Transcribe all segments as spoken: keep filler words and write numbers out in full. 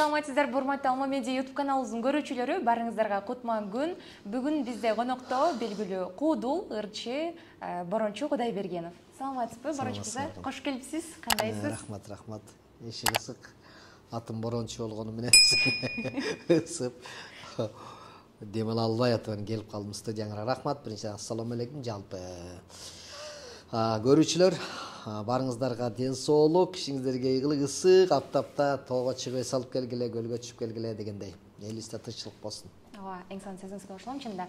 Саламатсыздарбы, урматтуу Алма Медиа YouTube каналыбыздын көрүүчүлөрү, барыңыздарга кутман күн. Бүгүн бизде конокто белгилүү куудул, ырчы, Борончу Кудайбергенов. Саламатсызбы, Борончу мырза? Кош келипсиз. Кандайсыз? Рахмат, рахмат. Эшик ысык. Атым Борончу болгону менен ысып. Дем ала албай атып келип калдым студияңарга. Рахмат. Биринчиден ассаламу алейкум. Жалпы көрүүчүлөр, барыңыздарга ден соолук, ишиңиздерге ийгилик, ысык аптапта тоого чыгып салып келгиле, көлгө түшүп келгиле дегендей. Элибизде тынччылык болсун. Ооба, эң сонун сөзүңүзгө кошулам чынында.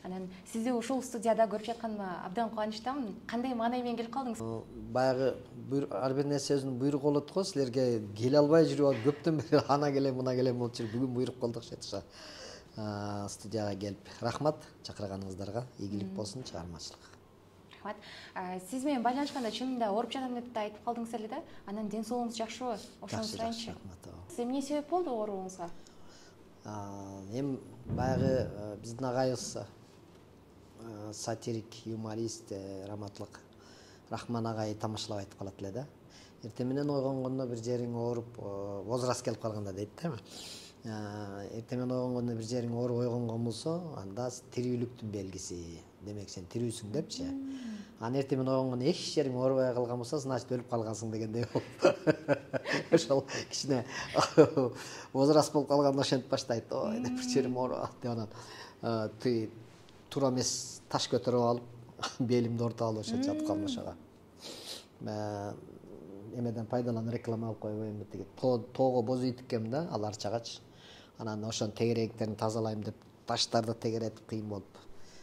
Анан сизди ушул студияда көрүп жатканыма абдан кубанычтамын. Кандай маанай менен келип калдыңыз? Баягы ар бир нерсе өзүнүн буйругу болот го, силерге келе албай жүрүп алып көптөн бери ана келем, мына келем болуп жүрүп, бүгүн буйрук кылдык шетиша. Студияга келип, рахмат чакырганыңыздарга, ийгилик болсун, чыгармачылык. Рахмат. Сиз менен байланышканда чынында ооруп жатам деп да айтып калдыңыз эле да. Анан ден соолугуңуз жакшыбы? Ошону сурайынчы. Эмне себеп болду ооругуңузга? Эми баягы биздин агайыбыз сатирик, юморист, раматлык Рахман агай тамашалап айтып калат эле да. Эртең менен ойгонгондо бир жериң ооруп, возраст келип калганда дейт да. Эртең менен ойгонгондо бир жериң ооруп ойгонгон болсо, анда тирүүлүктүн белгиси. Демек сен тирүүсүң депчи. Анан эртең менен ойгонгондо эч жериң оорубай калган болсо, значит өлүп калгансың дегендей болуп. Ошол кичине возраст болуп калганда ошентип баштайт. Ой, деп бир жерим ооруп деп анан туура эмес таш көтөрүп алып, белимди ортоп алып ошо жатып калдым ошого. Эмеден пайдаланып реклама алып койбойм деги. Тоого боз үй тиккем да, ал арчагач. Анан ошонун тегеректерин тазалайм деп таштарды тегеретип кыйын болуп.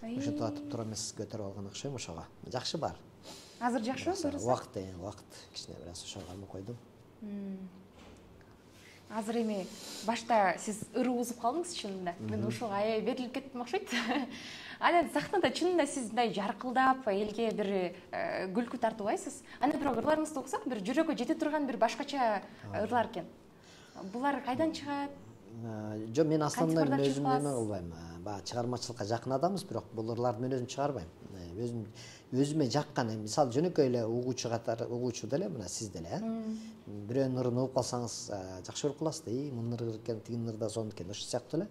Ошентип атып туура эмес көтөрүп алган окшойм ошого. Жакшы бар. Азыр жакшыбы көрүсөң? Убакыт, убакыт кичине бир аз ошого кармап койдум. Азыр эми башта сиз ыры узуп калдыңыз чынында. Мен ушуга аябай берилип кеттим окшойт. Анан сахнада чынында сиз мындай жаркылдап, элге бир күлкү тартыбайсыз. Анан бирок ырларыңызды уксак, бир жүрөккө жете турган бир башкача ырлар экен. Булар кайдан чыгат? Жок, мен аслында өзүм эме кылбайм. Баягы чыгармачылыкка жакын адамбыз, бирок бул ырларды мен өзүм чыгарбайм. Өзүм өзүмө жаккан, мисалы жөнөкөй эле угуучу катары, угуучу деле, мына сиз деле, э. Бирөөнүн ырын угуп калсаңыз, жакшы көрүп каласыз да, и мунун ыры экен, тигинин ыры да сонун экен, ошол сыяктуу эле.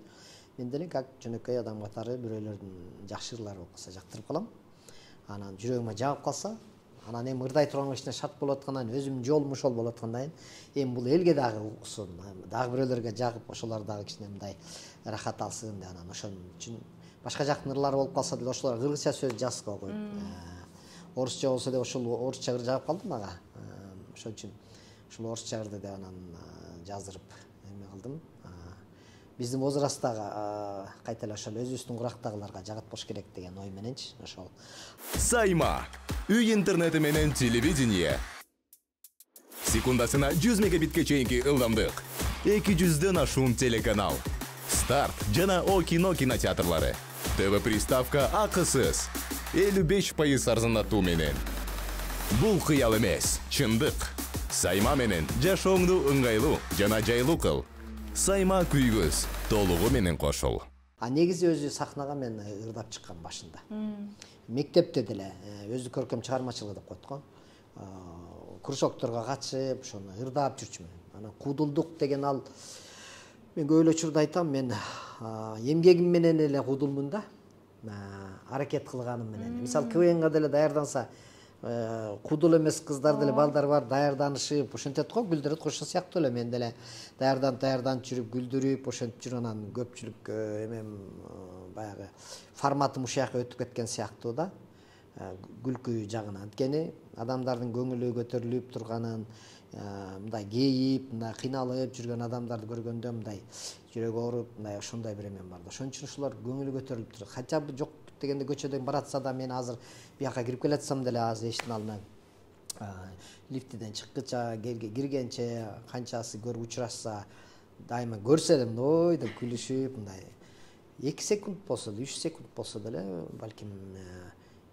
Мен деле как жөнөкөй адам катары бирөөлөрдүн жакшы ырлары болуп калса жактырып калам. Анан жүрөгүмө жагып калса, анан эми ырдай турган кичине шарт болуп аткандан кийин, өзүмдүн жолум ошол болуп аткандан кийин, эми бул элге дагы уксун, дагы бирөөлөргө жагып, ошолор дагы кичине мындай рахат алсын деп анан ошон үчүн башка жактын ырлары болуп калса деле ошолор кыргызча сөз жазып койгойт. Орусча болсо деле ошол орусча ыр жагып калдым ага. Ошон үчүн ушул орусча ырды деп анан жаздырып эме кылдым. Биздин возрасттагы кайта эле ошол өзүбүздүн курактагыларга жагатпош керек деген ой мененчи ошол. Сайма үй интернети менен телевидение. Секундасына жүз мегабитке чейинки ылдамдык. эки жүздөн ашуун телеканал. Старт жана О кино кинотеатрлары. ТВ приставка акысыз. элүү беш пайыз арзандатуу менен. Бул кыял эмес, чындык. Сайма менен жашооңду ыңгайлуу жана жайлуу кыл. Сайма күйгөз толугу менен кошул. А негизи өзү сахнага мен ырдап чыккан башында. Мектепте деле өзү көркөм чыгармачылык деп коет го. Кружокторго катышып, ошону ырдап жүрчүмүн. Анан куудулдук деген ал мен көп эле учурда айтам, мен эмгегим менен эле куудулмун да. Аракет кылганым менен. Мисалы КВНга деле даярданса, куудул эмес кыздар деле балдар бар, даярданышып, ошентет го, гүлдөрөт го, ошол сыяктуу эле мен деле даярданып, даярданып жүрүп, гүлдүрүп, ошентип жүрүп анан көпчүлүк эмем баягы форматым ушул жака өтүп кеткен сыяктуу да. Күлкү жагынан. Анткени адамдардын көңүлү көтөрүлүп турганын, мындай кейип, мындай кыйналып жүргөн адамдарды көргөндө мындай жүрөгү ооруп, мындай ошондой бир эмем бар да. Ошон үчүн ушулар көңүлү көтөрүлүп турат. Хотя бы жок дегенде көчөдөн баратса да, мен азыр бияка кирип келатсам деле азыр эшиктин алдына лифтиден чыккыча, киргенче канчасы көрүп учурашса, дайыма көрсө эле мындай деп күлүшүп, мындай эки секунд болсо, үч секунд болсо деле, балким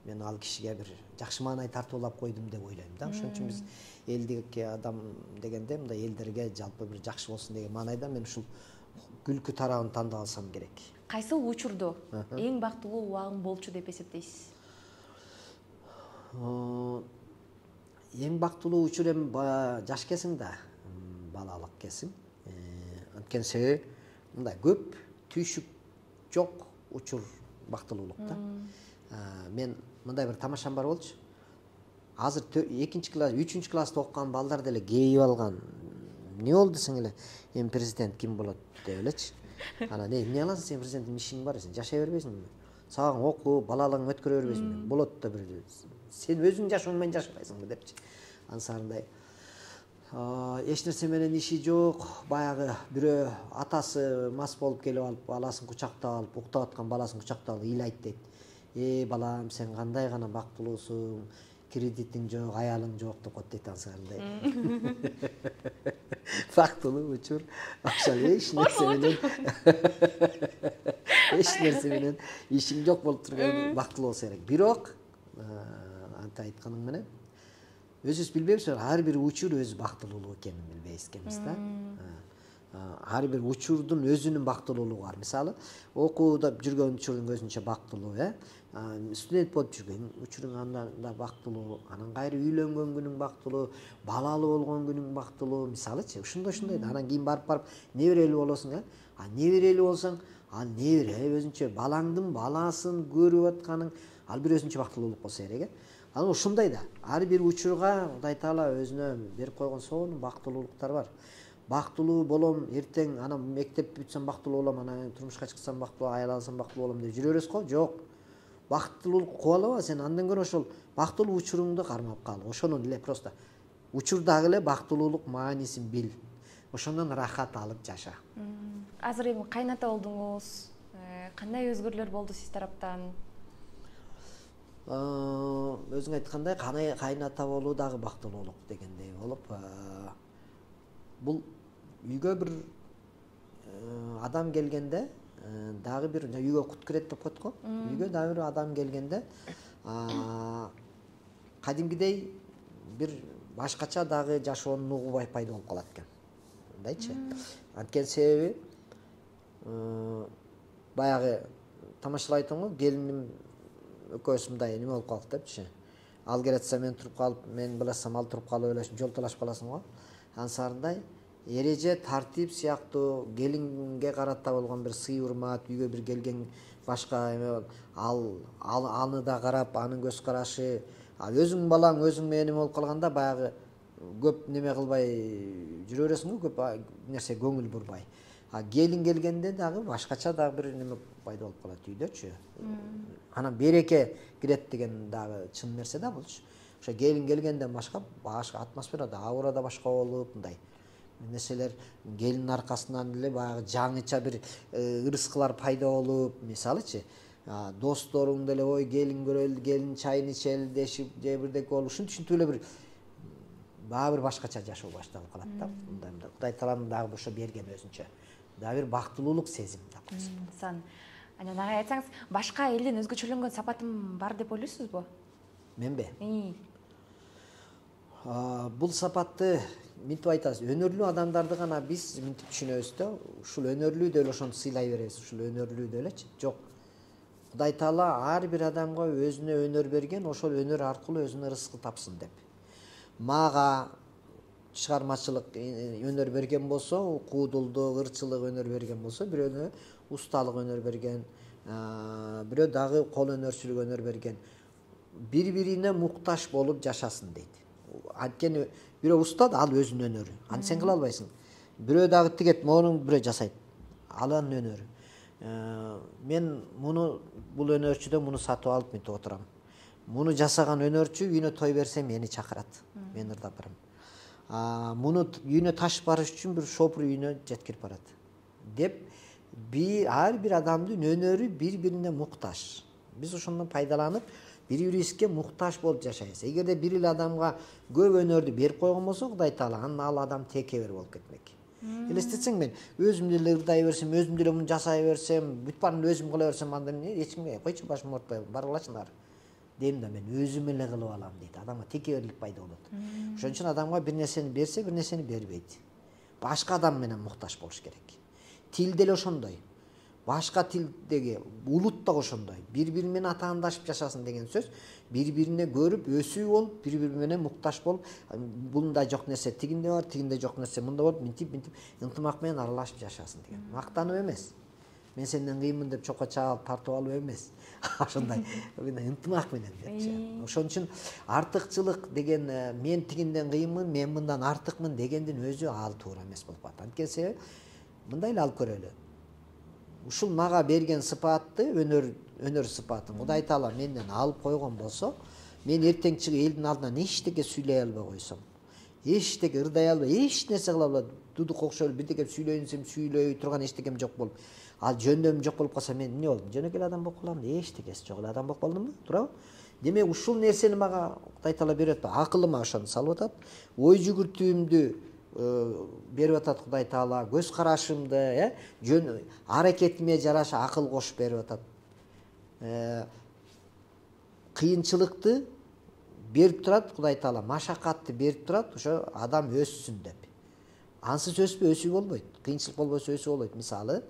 мен ал кишиге бир жакшы маанай тартуулап койдум деп ойлойм да. Ошон үчүн биз элдикке адам дегенде мындай элдерге жалпы бир жакшы болсун деген маанайда мен ушул күлкү тарабын тандап алсам керек. Кайсыл учурду эң бактылуу убагым болчу деп эсептейсиз? Эң бактылуу учур эми жаш кезиң да, балалык кезиң. Анткени себеби мындай көп түйшүк жок учур бактылуулукта. Мен мындай бир тамашам бар болчу. Азыр экинчи класс, үчүнчү класста окуган балдар деле кейип алган. Не болду сиңеле? Эми президент ким болот деп элечи. Анан эмне кыласың сен, президенттин ишиң бар, сен жашай бербейсиңби? Сагын окуу, балалыгыңды өткөрө бербейсиңби? Болот да бир сен өзүң жашоо менен жашабайсыңбы депчи. Ансарындай эч нерсе менен иши жок, баягы бирөө атасы мас болуп келип алып, баласын кучактап алып, уктап аткан баласын кучактап алып ыйлайт дейт. Э балам, сен кандай гана бактылуусуң, кредитиң жок, аялың жок деп коет дейт ансарындай. Бактылуу учур ошол эч нерсе менен эч нерсе менен ишиң жок болуп турган бактылуу болсо керек. Бирок анта айтканың менен өзүбүз билбейбиз, ар бир учур өз бактылуулугу экенин билбейбиз экенбиз да. Ар бир учурдун өзүнүн бактылуулугу бар. Мисалы, окууда жүргөн учурдун өзүнчө бактылуу, э? Студент болуп жүргөн учуруң да бактылуу, анан кайра үйлөнгөн күнүң бактылуу, балалуу болгон күнүң бактылуу, мисалычы, ушундай-ушундай. Анан кийин барып-барып неберелүү болосуң, э? А неберелүү болсоң, ал небере өзүнчө балаңдын баласын көрүп атканың, ал бир өзүнчө бактылуулук болсо керек, э? Анан ушундай да, ар бир учурга Кудай Таала өзүнө берип койгон сонун бактылуулуктар бар. Бактылуу болом, эртең анан мектеп бүтсөм бактылуу болом, анан турмушка чыксам бактылуу, аял алсам бактылуу болом деп жүрө бересиз го? Жок. Бактылуулук кубалаба, сен андан көрө ошол бактылуу учуруңду кармап кал. Ошону эле просто учурдагы эле бактылуулук маанисин бил. Ошондон рахат алып жаша. Азыр эми кайната болдуңуз. Кандай өзгөрүүлөр болду сиз тараптан? Өзүң айткандай, кайната болуу дагы бактылуулук дегендей болуп, бул үйгө бир адам келгенде, дагы бир үйгө кут кирет деп коет го. Үйгө дагы бир адам келгенде, кадимгидей бир башкача дагы жашоонун угу пайда болуп калат экен. Мындайчы. Анткени себеби баягы тамашалап айттым го, келиним экөөбүз мындай эме болуп калдык депчи. Ал келатса мен туруп калып, мен биласам ал туруп калып эле жол талашып каласың го. Ансарындай эреже, тартип сыяктуу келинге карата болгон бир сый урмат, үйгө бир келген башка эме ал аны да карап, анын көз карашы, ал өзүң балаң өзүң менен эме болуп калганда баягы көп неме кылбай жүрө бересиң го, көп нерсе көңүл бурбай. А келин келгенде дагы башкача дагы бир неме пайда болуп калат үйдөчү. Анан береке кирет деген дагы чын нерсе да булчу. Ошо келин келгенден башка башка атмосфера да, аура да башка болуп, мындай нерселер келиндин аркасынан эле баягы жаңыча бир ырыскылар пайда болуп, мисалычы, досторуң деле ой келин көрөлү, келин чайын ичели дешип, же бирдеке болуп, ушинтип эле бир баа бир башкача жашоо башталып калат да. Мындай мындай Кудай Тааланын дагы ошо берген өзүнчө дагы бир бактылуулук сезим да. Сан. Анан ага айтсаңыз, башка элден өзгөчөлөнгөн сапатым бар деп ойлойсузбу? Менби? Бул сапатты мынтип айтасыз, өнөрлүү адамдарды гана биз мынтип түшүнөбүз да, ушул өнөрлүү деле ошону сыйлай беребиз, ушул өнөрлүү делечи. Жок. Кудай Таала ар бир адамга өзүнө өнөр берген, ошол өнөр аркылуу өзүнө рызкы тапсын деп. Мага чыгармачылык өнөр берген болсо, куудулдук, ырчылык өнөр берген болсо, бирөөнө усталык өнөр берген, бирөө дагы кол өнөрчүлүк өнөр берген. Бири-бирине муктаж болуп жашасын дейт. Анткени бирөө уста да, ал өзүнүн өнөрү. Аны сен кыла албайсың. Бирөө дагы тигет, мону бирөө жасайт. Ал анын өнөрү. Мен муну бул өнөрчүдөн муну сатып алып мынтип отурам. Муну жасаган өнөрчү үйүнө той берсе мени чакырат. Мен ырдап барам. Муну үйүнө ташып барыш үчүн бир шопур үйүнө жеткирип барат. Деп ар бир адамдын өнөрү бири-бирине муктаж. Биз ошондон пайдаланып, бири-бирибизге муктаж болуп жашайбыз. Эгерде бир эле адамга көп өнөрдү берип койгон болсо, Кудай Таала анан ал адам текебер болуп кетмек. Элестетсең, мен өзүм деле ырдай берсем, өзүм деле муну жасай берсем, бүт баарын өзүм кыла берсем, анда эч кимге койчу башым оорутпай баргылачы нары. Дейм да, мен өзүм эле кылып алам дейт. Адамга текеберлик пайда болот. Ошон үчүн адамга бир нерсени берсе, бир нерсени бербейт. Башка адам менен муктаж болуш керек. Тил деле ошондой. башка тилдеги улут да ошондой. Бири-бири менен атаандашып жашасын деген сөз. Бири-бирине көрүп, өсүү болуп, бири-бири менен мукташ болуп, бундай жок нерсе тигинде бар, тигинде жок нерсе мында болуп, мынтип, мынтип ынтымак менен аралашып жашасын деген. Мактанып эмес. Мен сенден кыйынмын деп чокко чаалып тартып алып эмес. Ошондой ынтымак менен депчи. Ошон үчүн артыкчылык деген мен тигинден кыйынмын, мен мындан артыкмын дегендин өзү ал туура эмес болуп калат. Анткени себеби мындай эле алып көрөлү. Ушул мага берген сыпатты, өнөр өнөр сыпатын Кудай Таала менден алып койгон болсо, мен эртең чыгып элдин алдынан эчтеке сүйлөй албай койсом, эчтеке ырдай албай, эч нерсе кыла албай, дудук окшоп бирдеке сүйлөйүн десем сүйлөй турган эчтекем жок болуп, ал жөндөм жок болуп калса мен эмне болдум? Жөнөкөй адам болуп калам, эчтекеси жок эле адам болуп калдымбы? Туурабы? Демек ушул нерсени мага Кудай Таала берип атат, акылыма ошону салып атат, ой жүгүртүүмдү берип атат Кудай Таала, көз карашымды, э, жөн аракетиме жараша акыл кошуп берип атат. Кыйынчылыкты берип турат Кудай Таала, машакатты берип турат, ошо адам өссүн деп. Ансыз өспөй өсүү болбойт. Кыйынчылык болбосо өсүү болбойт. Мисалы,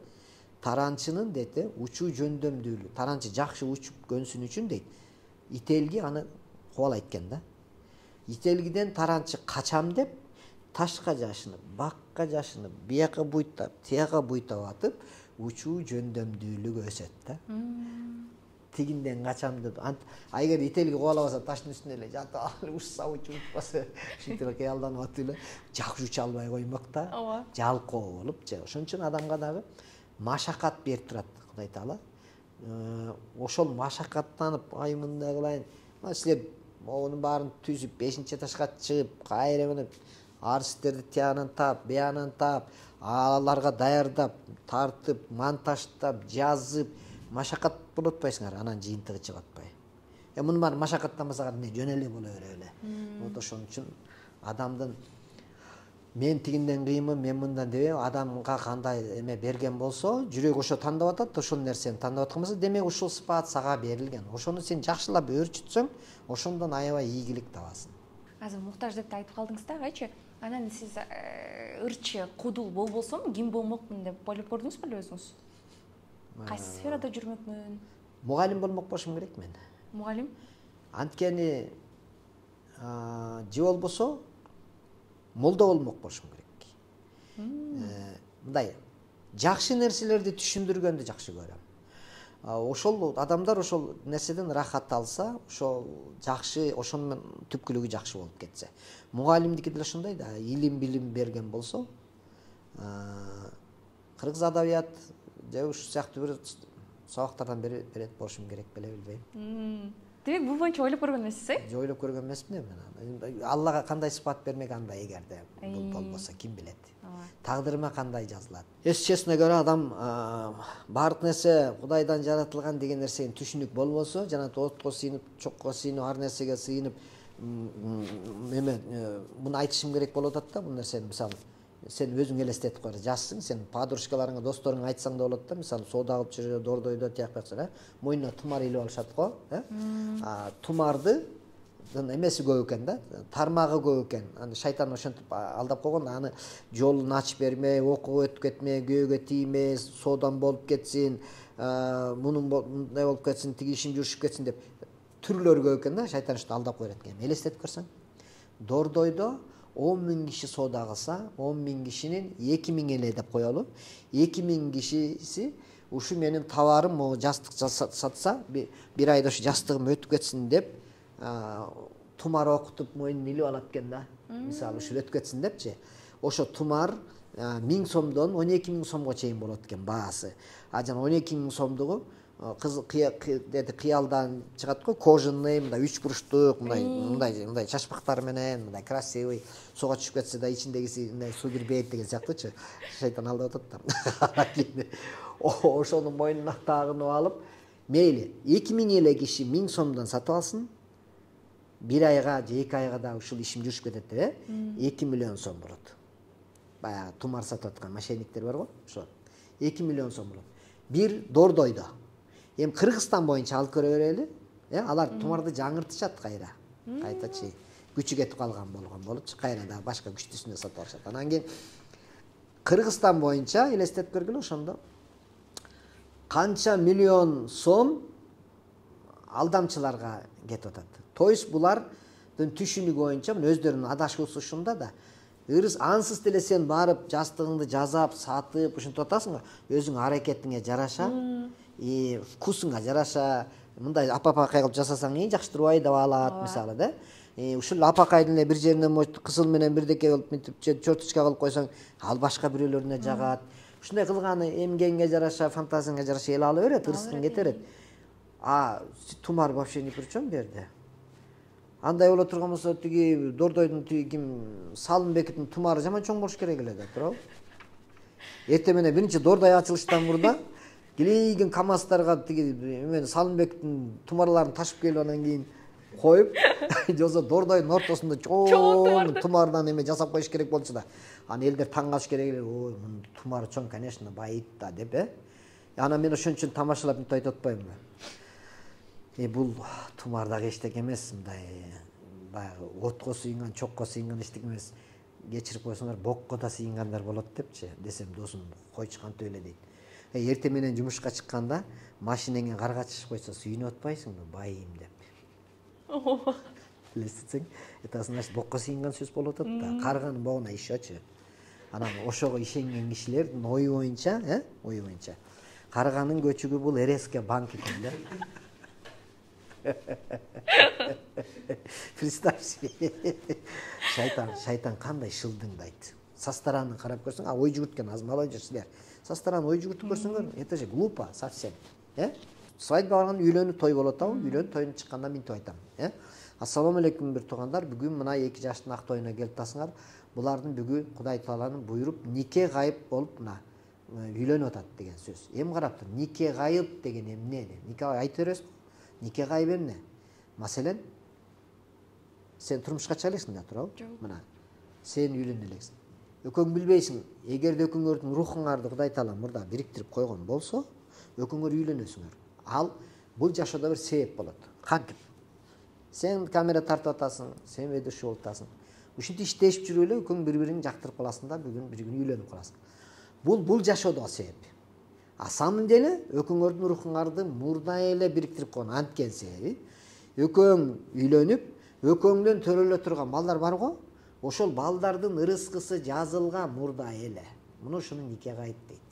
таранчынын дейт, учуу жөндөмдүүлүгү, таранчы жакшы учуп көнсүн үчүн дейт, ителги аны кубалайт экен да. Ителгиден таранчы качам деп ташка жашынып, бакка жашынып, бияка буйтап, тияка буйтап атып, учуу жөндөмдүүлүгү өсөт да. Тигинден качам деп, эгер ителги кубалабаса таштын үстүнө эле жатып алып учса, учуп утпаса, ушинтип кыялданып атып эле жакшы уча албай коймок да. Жалкоо болупчу. Ошон үчүн адамга дагы машакат берип турат Кудай Таала. Ошол машакаттанып, ай мындай кылайын, силер монун баарын түзүп, бешинчи этажга чыгып, кайра менен арстерди тиянын таап, биянын таап, аларга даярдап, тартып, монтаждап, жазып, машакат болуп атпайсыңар, анан жыйынтыгы чыгып атпай. Э мунун баары машакаттанбасак эмне жөн эле боло бере эле. Вот ошон үчүн адамдын мен тигинден кыйынмын, мен мындан деп адамга кандай эме берген болсо, жүрөк ошо тандап атат, ошол нерсени тандап аткан болсо, демек ушул сыпат сага берилген. Ошону сен жакшылап өөрчүтсөң, ошондон аябай ийгилик табасың. Азыр муктаж деп айтып калдыңыз да, кайчы? Анан сиз ырчы, кудул болбосом, ким болмокмун деп ойлоп көрдүңүз беле өзүңүз? Кайсы сферада жүрмөкмүн? Мугалим болмок болушум керек мен. Мугалим? Анткени же болбосо молдо болмок болушум керек. Мындай жакшы нерселерди түшүндүргөндү жакшы көрөм. Ошол адамдар ошол нерседен рахат алса, ошол жакшы, ошонун түпкүлүгү жакшы болуп кетсе. Мугалимдики деле ошондой да, илим билим берген болсо, кыргыз адабият же ушул сыяктуу бир сабактардан берет болушум керек беле, билбейм. Демек бул боюнча ойлоп көргөн эмессиз, э? Ойлоп көргөн эмесмин мен. Аллага кандай сыпат бермек анда эгерде бул болбосо, ким билет. Тагдырыма кандай жазылат. Эс честно говоря, адам баардык нерсе Кудайдан жаратылган деген нерсени түшүнүк болбосо, жана отко сыйынып, чокко сыйынып, ар нерсеге сыйынып, эме муну айтышым керек болуп атат да, бул нерсени мисалы сен өзүң элестетип кой, жазсың, сен подружкаларыңа, досторуңа айтсаң да болот да, мисалы соода кылып жүрө, дордойдо тияк бакса, мойнуна тумар илип алышат го, э? Тумарды эмеси көп экен да, тармагы көп экен. Аны шайтан ошентип алдап койгон, аны жолун ачып бермей, окуп өтүп кетме, күйөөгө тийме, соодан болуп кетсин, мунун мындай болуп кетсин, тиги ишин журушуп кетсин деп түрлөрү көп экен да, шайтан ушинтип алдап коет экен. Элестетип көрсөң, дордойдо он миң киши соода кылса, он миң кишинин эки миң эле деп коелу. эки миң кишиси ушу менин товарым, могу жастык сатса, бир айда ушу жастыгым өтүп кетсин деп тумар окутуп мойнуна илип алат экен да. Мисалы ушу өтүп кетсин депчи. Ошо тумар миң сомдон он эки миң сомго чейин болот экен баасы. А жана он эки миң сомдугу кыз кыялдан чыгат го, кожаный, мындай үч буруштук, мындай мындай мындай чачпактар менен, мындай красивый, суга түшүп кетсе да ичиндегиси мындай суу кирбейт деген сыяктуучу. Шайтан алдап атат да. Ошонун мойнуна тагынып алып, мейли эки миң эле киши миң сомдон сатып алсын, бир айга же эки айга да ушул ишим жүрүшүп кетет деп, эки миллион сом болот. Баягы тумар сатып аткан мошенниктер бар го, ошо эки миллион сом болот. Бир дордойдо. Эми Кыргызстан боюнча алып көрө берели, э, алар тумарды жаңыртышат кайра. Кайтачы күчү кетип калган болгон болупчу, кайра да башка күчтүүсүндө сатып алышат. Анан кийин Кыргызстан боюнча элестетип көргүлө, ошондо канча миллион сом алдамчыларга кетип атат. То есть булардын түшүнүгү боюнча өздөрүнүн адашуусу ушунда да. Ырыс ансыз деле сен барып жастыгыңды жазап, сатып, ушинтип атасың го. Өзүң аракетиңе жараша, и вкусуңа жараша, мындай апа-апакай кылып жасасаң эң жакшы турбайбы деп алат, мисалы да. Ушул апакайдын эле бир жеринен может кызыл менен бирдеке кылып мынтип черточка кылып койсоң, ал башка бирөөлөрүнө жагат. Ушундай кылганы эмгеңге жараша, фантазияңа жараша эл ала берет, ырыскың кете берет. А тумар вообще ни при чем берди. Андай боло турган болсо тиги Дордойдун тиги ким Салымбектин тумары жаман чоң болуш керек эле да, туурабы? Эртең менен биринчи Дордой ачылыштан мурда келейген КамАЗдарга тиги эмен Салымбектин тумарларын ташып келип анан кийин коюп, жосо Дордойдун ортосунда чоң тумардан эме жасап коюш керек болчу да. Аны элдер таң калыш керек эле. Ой, мунун тумары чоң, конечно, байыт да деп, э. Анан мен ошон үчүн тамашалап мынтип айтып атпаймынбы? Э, бул тумар дагы эчтеке эмес, мындай баягы отко сыйынган, чокко сыйынган эчтеке эмес. Кечирип койсоңор бокко да сыйынгандар болот депчи, десем досум койчу кантип эле дейт. Э, эртең менен жумушка чыкканда машинеңе карга чыгып койсо сүйүнүп атпайсыңбы, байым деп. Билесиң, это значит бокко сыйынган сөз болуп атат да. Карганын богуна ишечү. Анан ошого ишенген кишилердин ою боюнча, э, ою боюнча карганын көчүгү бул РСК банк экен да. Представьте. Шайтан, шайтан кандай шылдыңдайт. Со стороны карап көрсөң, а ой жүгүрткөн азмалай жүрсүлөр. Со стороны ой жүгүртүп көрсөңөр, это же глупо совсем, э? Свадьба барганда үйлөнүп той болот атабы? Үйлөнүп тойдун чыкканда мынтип айтам, э? Ассалому алейкум бир туугандар, бүгүн мына эки жаштын ак тоюна келип атасыңар. Булардын бүгүн Кудай Тааланын буйруп нике гайып болуп мына үйлөнүп атат деген сөз. Эми карап тур, нике гайып деген эмне? Нике айтып бересиз? Нике гайып эмне? Маселен, сен турмушка чыга элексиң да, туурабы? Мына, сен үйлөнө элексиң. Өкөң билбейсиң, эгерде өкөңөрдүн рухуңарды Кудай Таала мурда бириктирип койгон болсо, өкөңөр үйлөнөсүңөр. Ал бул жашоодо бир себеп болот. Кантип? Сен камера тартып атасың, сен ведущий болуп атасың. Ушинтип иштешип жүрүп эле өкөң бири-бириңди жактырып каласың да, бүгүн бир күн үйлөнүп каласың. Бул бул жашоодо себеп. А самом деле өкөңөрдүн рухуңарды мурда эле бириктирип койгон анткен себеби. Өкөң үйлөнүп, өкөңдөн төрөлө турган балдар бар го? Ошол балдардын ырыскысы жазылган мурда эле. Муну ушуну нике гайып дейт.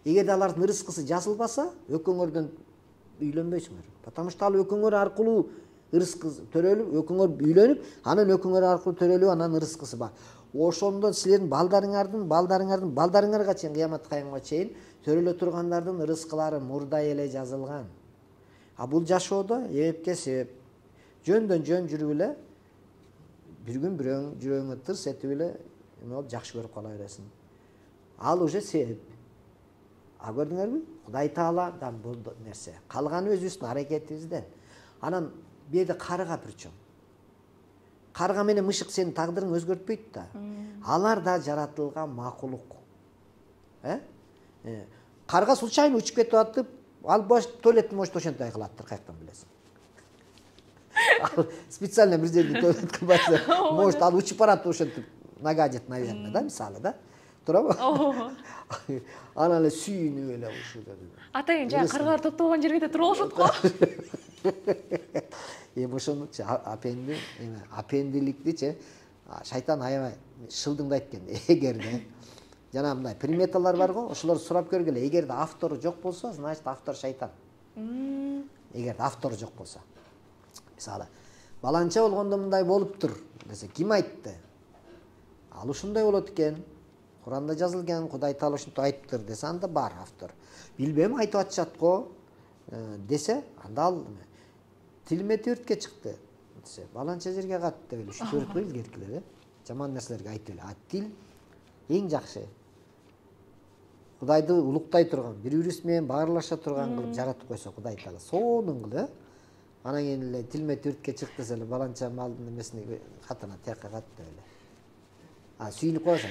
Эгерде алардын ырыскысы жазылбаса, өкөңөрдөн үйлөнбөйсүңөр. Потому что ал өкөңөр аркылуу ырыскы төрөлүп, өкөңөр үйлөнүп, анан өкөңөр аркылуу төрөлүп, анан ырыскысы бар. Ошондо силердин балдарыңардын, балдарыңардын, балдарыңарга чейин кыямат кыяматка чейин төрөлө тургандардын ырыскылары мурда эле жазылган. А бул жашоодо эпке себеп. Жөндөн жөн жүрүп эле бир күн бирөөң жүрөгүңө тырс этип эле эме болуп жакшы көрүп кала бересиң. Ал уже себеп. А көрдүңөрбү? Кудай Тааладан бул нерсе. Калганы өзүбүздүн аракетибизден. Анан бу жерде карга причем. Карга менен мышык сенин тагдырыңды өзгөртпөйт да. Алар да жаратылган макулук. Э? Карга случайно учуп кетип атып, ал бош туалетти может ошентип кылаттыр, каяктан билесиң. Ал специально бир жерде туалет кылбайса, может ал учуп барат ошентип нагадит, наверное, да, мисалы, да? Турабы? Анан эле сүйүнүп эле ушул. Атайын жана каргалар топтолгон жерге туруп алышат го. Эми ошонучу апенди, эме апендиликтичи шайтан аябай шылдыңдайт экен. Эгерде жана мындай приметалар бар го, ошолорду сурап көргүлө. Эгерде автору жок болсо, значит автор шайтан. Эгерде автору жок болсо. Мисалы, баланча болгондо мындай болуптур десе, ким айтты? Ал ушундай болот экен. Куранда жазылган, Кудай Таала ушинтип айтыптыр десе, анда бар автор. Билбейм, айтып атышат го десе, анда ал тилиме төрткө чыкты десе, баланча жерге катты деп эле ушинтип өрөт го илгеркилер, э? Жаман нерселерге айтып эле. А тил эң жакшы. Кудайды улуктай турган, бири-бирибиз менен баарлаша турган кылып жаратып койсо Кудай Таала, сонун кылып, э? Анан кийин эле тилиме төрткө чыкты десе эле баланча малдын эмесине катына тияка катты деп эле. А сүйүнүп коесуң.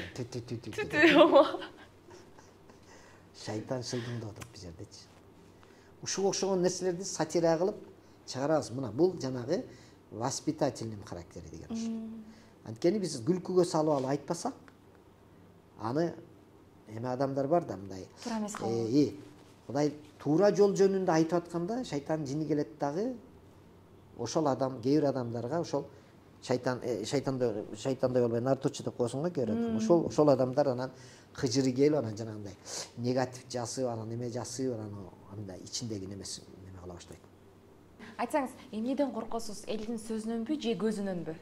Шайтан шылдыңдап атат бул жердечи. Ушуга окшогон нерселерди сатира кылып чыгарабыз. Мына бул жанагы воспитательный характери деген ушу. Анткени биз күлкүгө салып алып айтпасак, аны эме адамдар бар да мындай. Туура эмес калып. Э, Кудай туура жол жөнүндө айтып атканда шайтан жини келет дагы ошол адам кээ бир адамдарга ошол шайтан шайтандай шайтандай болбой нарутучу деп коесуң го кээ бир адам. Ошол ошол адамдар анан кыжыры келип анан жанагындай негатив жасып анан неме жасып анан андай ичиндеги немеси неме кыла баштайт. Айтсаңыз, эмнеден коркосуз? Элдин сөзүнөнбү же көзүнөнбү?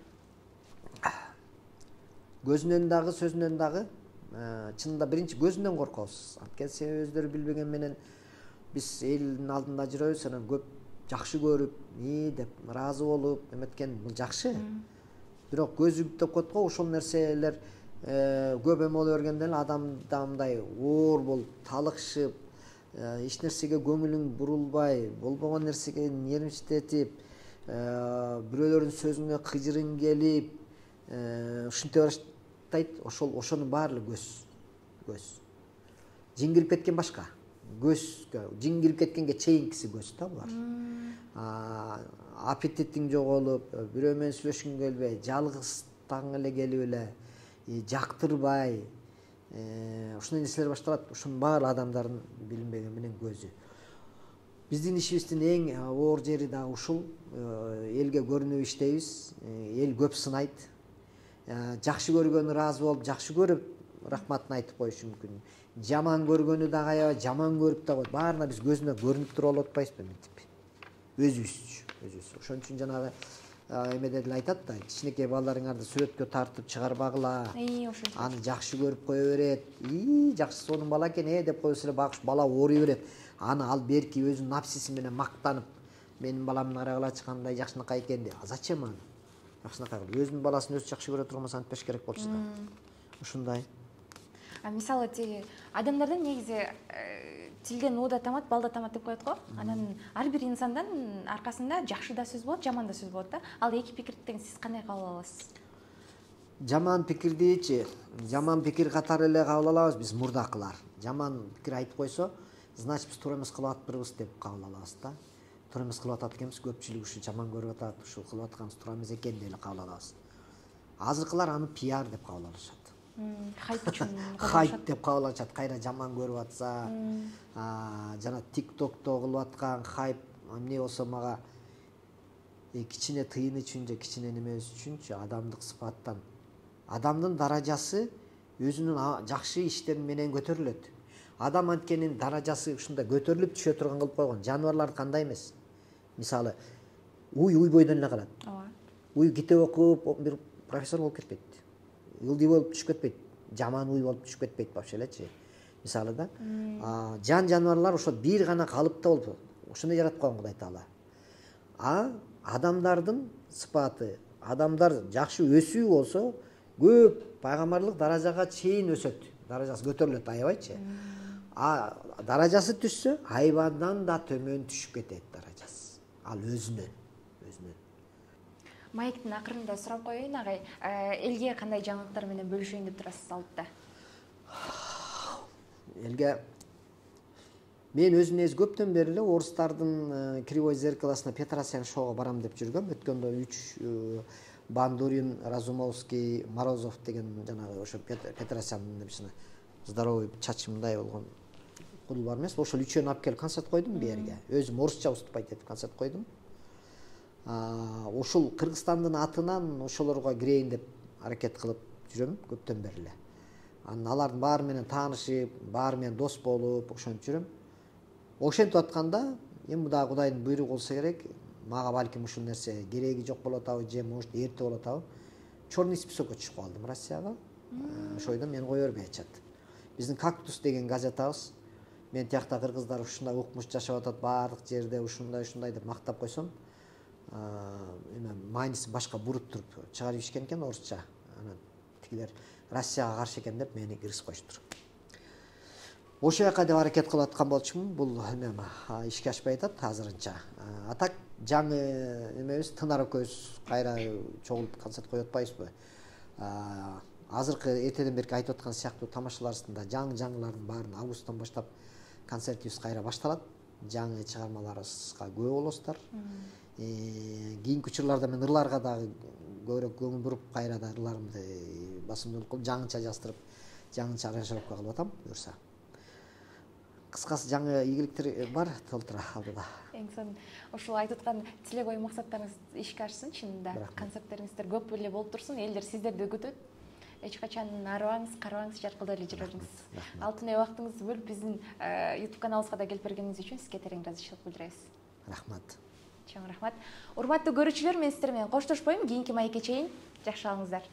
Көзүнөн дагы, сөзүнөн дагы. Чынында биринчи көзүнөн коркобуз. Анткени себеби өздөрү билбеген менен биз элдин алдында жүрөбүз, анан көп жакшы көрүп, и деп ыраазы болуп, эметкен бул жакшы. Бирок көзүп деп коет го, ошол нерселер көп эме боло бергенде эле адамда мындай оор болуп, талыкшып, эч нерсеге көңүлүң бурулбай, болбогон нерсеге нервиштетип, бирөөлөрдүн сөзүнө кыжырың келип, ушинте баштайт. Ошол ошонун баардыгы көз. Көз. Жин кирип кеткен башка. Көзгө, жин кирип кеткенге чейинкиси көз да булар. Аппетитиң жоголуп, бирөө менен сүйлөшкүң келбей, жалгызтаң эле келип эле, жактырбай, ушундай нерселер башталат. Ушунун баары адамдардын билинбеген менен көзү. Биздин ишибиздин эң оор жери дагы ушул. Элге көрүнүп иштейбиз. Эл көп сынайт. Жакшы көргөнү ыраазы болуп, жакшы көрүп, рахматын айтып коюшу мүмкүн. Жаман көргөнү дагы аябай жаман көрүп да коет. Баарына биз көзүнө көрүнүп туруп алып атпайбызбы мынтип? Өзүбүзчү, өзүбүз. Ошон үчүн жанагы эмеде деле айтат да, кичинекей балдарыңарды сүрөткө тартып чыгарбагыла. Аны жакшы көрүп кое берет. И, жакшы сонун бала экен, э деп койсо эле багыш бала ооруй берет. Аны ал берки өзүнүн напсиси менен мактанып, менин баламды карагылачы кандай жакшынакай экен деп. А зачем аны? Жакшынакай кылып, өзүнүн баласын өзү жакшы көрө турган болсо антпеш керек болчу да. Ушундай. А мисалы тиги адамдардан негизи тилден оода тамат, балда тамат деп коет го. Анан ар бир инсандан аркасында жакшы да сөз болот, жаман да сөз болот да. Ал эки пикирден сиз кандай кабыл аласыз? Жаман пикирдичи, жаман пикир катары эле кабыл алабыз биз мурдакылар. Жаман пикир айтып койсо, значит биз туура эмес кылып атпырбыз деп кабыл алабыз да. Туура эмес кылып атат экенбиз, көпчүлүк ушу жаман көрүп атат, ушул кылып атканыбыз туура эмес экен деп эле кабыл алабыз. Азыркылар аны пиар деп кабыл алышат. Хайп үчүн. Хайп деп кабыл алышат. Кайра жаман көрүп атса, жана тиктокто кылып аткан хайп эмне болсо мага кичине тыйын үчүн же кичине немес үчүнчү адамдык сыпаттан. Адамдын даражасы өзүнүн жакшы иштери менен көтөрүлөт. Адам анткенин даражасы ушунда көтөрүлүп түшө турган кылып койгон. Жаныбарлар кандай эмес? Мисалы, уй уй бойдон эле калат. Ооба. Уй китеп окуп бир профессор болуп кетпейт. Ылдый болуп түшүп кетпейт. Жаман уй болуп түшүп кетпейт вообще элечи. Мисалы да. Жан жаныбарлар ошо бир гана калыпта болуп, ошондой жаратып койгон Кудай Таала. А адамдардын сыпаты, адамдар жакшы өсүү болсо, көп пайгамбарлык даражага чейин өсөт. Даражасы көтөрүлөт аябайчы. А даражасы түшсө, айбандан да төмөн түшүп кетет даражасы. Ал өзүнөн, өзүнөн. Майктын акырында сурап коеюн агай, элге кандай жаңылыктар менен бөлүшөйүн деп турасыз алдыда? Элге мен өзүм негизи көптөн бери эле орустардын Кривой зеркалосуна Петросян шоуга барам деп жүргөм. Өткөндө үч Бандурин, Разумовский, Морозов деген жанагы ошо Петросяндын немесине здоровый чачы мындай болгон кудул бар эмес. Ошол үчөөнү алып келип концерт койдум бу жерге. Өзүм орусча выступать этип концерт койдум. Ошол Кыргызстандын атынан ошолорго кирейин деп аракет кылып жүрөм көптөн бери эле. Анан алардын баары менен таанышып, баары менен дос болуп, ошентип жүрөм. Ошентип атканда, эми дагы Кудайдын буйругу болсо керек, мага балким ушул нерсе кереги жок болот атабы, же может эрте болот атабы. Черный списокко түшүп калдым Россияга. Ошол бойдон мени кое бербей атышат. Биздин Кактус деген газетабыз. Мен тиякта кыргыздар ушундай укмуш жашап атат, баардык жерде ушундай ушундай деп мактап койсом, эме майнысы башка буруп туруп чыгарып ишкен экен орусча. Анан тигилер Россияга каршы экен деп мени киргизип коюштур. Ошол жака деп аракет кылып аткан болчумун. Бул эме ишке ашпай атат азырынча. А так жаңы эмебиз Тынар экөөбүз кайра чогулуп концерт коюп атпайбызбы? Азыркы эртеден берки айтып аткан сыяктуу тамашаларыбызда жаңы жаңылардын баарын августтан баштап концертибиз кайра башталат. Жаңы чыгармаларыбызга күбө болосуздар. Кийинки учурларда мен ырларга дагы көбүрөөк көңүл буруп, кайра да ырларымды басымдуулук кылып, жаңыча жаздырып, жаңыча аранжировка кылып атам, буюрса. кыскасы жаңы ийгиликтер бар толтура алдыда. Эң сонун ушул айтып аткан тилек ой максаттарыңыз ишке ашсын чынында. Концерттериңиздер көп эле болуп турсун, элдер сиздерди күтөт. Эч качан арыбаңыз, карабаңыз, жаркылдап эле жүрө бериңиз. Алтын убактыңызды бөлүп биздин YouTube каналыбызга да келип бергениңиз үчүн сизге терең ыраазычылык билдиребиз. Рахмат. Чоң рахмат. Урматтуу көрүүчүлөр, мен сиздер менен коштошпойм. Кийинки маекке чейин жакшы калыңыздар.